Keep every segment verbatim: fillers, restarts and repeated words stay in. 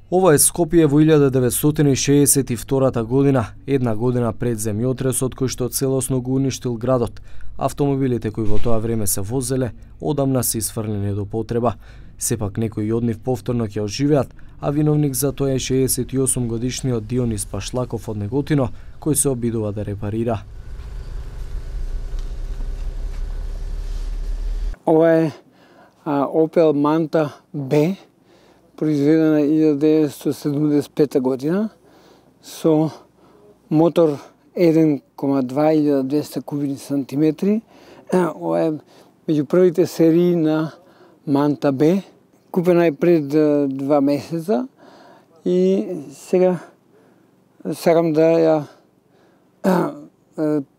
Ова е Скопје во илјада деветстотини и шеесет и втората година, една година пред земјотресот кој што целосно го уништил градот. Автомобилите кои во тоа време се возеле, одамна се исфрлени до потреба. Сепак некои од нив повторно ќе оживеат, а виновник за тоа е шеесет и осум годишниот Дионис Пашлаков од Неготино, кој се обидува да репарира. Ова е а, Opel Manta B, произведена илјада деветстотини седумдесет и пета година, со мотор еден кoma два илјада двесте кубични сантиметри. Ова е меѓу првите серии на Manta B. Купена е пред два месеца и сега сакам да ја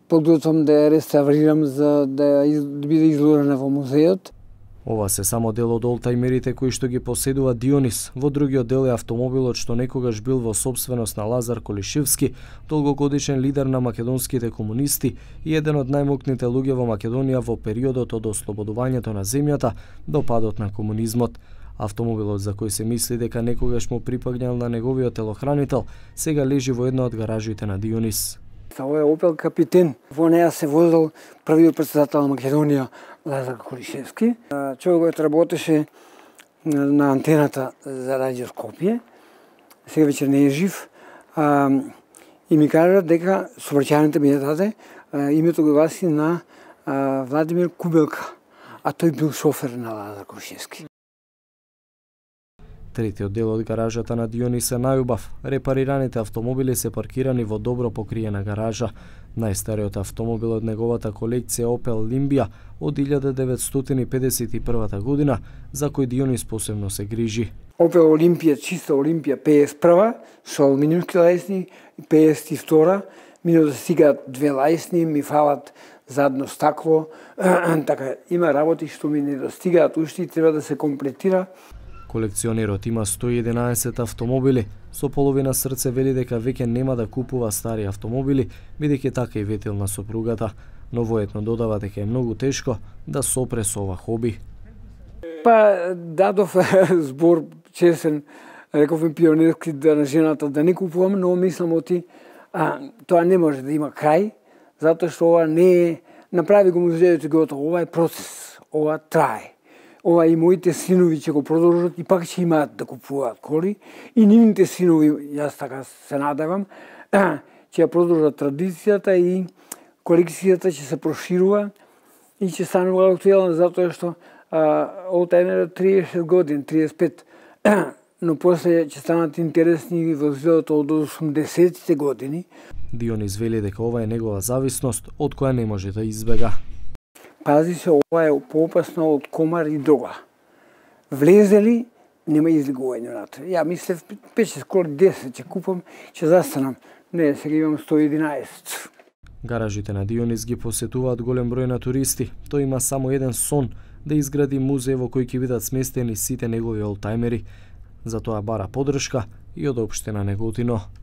подготвам да ја реставрирам за да ја биде изложена во музеот. Ова се само дел од олтајмерите кои што ги поседува Дионис. Во другиот дел е автомобилот што некогаш бил во сопственост на Лазар Колишевски, долгогодишен лидер на македонските комунисти и еден од најмокните луѓе во Македонија во периодот од ослободувањето на земјата до падот на комунизмот. Автомобилот за кој се мисли дека некогаш му припаѓал на неговиот телохранител, сега лежи во една од гаражите на Дионис. Ова е Opel Капитен. Во неа се возел првиот претседател на Македонија Лазар Колишевски. Човекот работеше на антената за Радио Скопје. Сега веќе не е жив. А, и ми кажа дека сообраќајната ми ја даде а, името го гласи на а, Владимир Кубелка, а тој бил шофер на Лазар Колишевски. Третиот дел од гаражата на Дионис е најубав. Репарираните автомобили се паркирани во добро покриена гаража. Најстариот автомобил од неговата колекција Opel Limbia од илјада деветстотини педесет и првата година, за кој Дионис посебно се грижи. Opel Olympia, чиста Олимпија педесет и прва, со алуминиумски лајсни, педесет и втора, мино да стигаат две лајсни, ми фалат задно стакло, така има работи што ми не достигаат уште и треба да се комплетира. Колекционерот има сто и единаесет автомобили. Со половина срце вели дека веќе нема да купува стари автомобили, бидејќи така и ветил на сопругата, но воедно додава дека е многу тешко да сопре со ова хоби. Па дадов збор чесен, реков ми пионерски да на жената да не купувам, но мислам оти а, тоа не може да има крај, затоа што ова не е, направи го музејот и готово, ова е процес, ова трае. Ова и моите синови ќе го продолжат и пак ќе имаат да купуваат коли и нивните синови, јас така се надевам, ќе ја продолжат традицијата и колекцијата ќе се проширува и ќе станува актуелна затоа што олтајмерот триесет години, триесет и пет, но после ќе станат интересни возилата од осумдесетите години. Дионис вели дека ова е негова зависност од која не може да избега. Пази се, ова е поопасно од комар и дрога. Влезе ли, нема излегување натре. Ја мислев пет-шест коли, десет ќе купам, ќе застанам. Не, сега имам сто и единаесет. Гаражите на Дионис ги посетуваат голем број на туристи. Тој има само еден сон, да изгради музеј во кој ќе бидат сместени сите негови олтајмери. За тоа бара поддршка и од општина Неготино.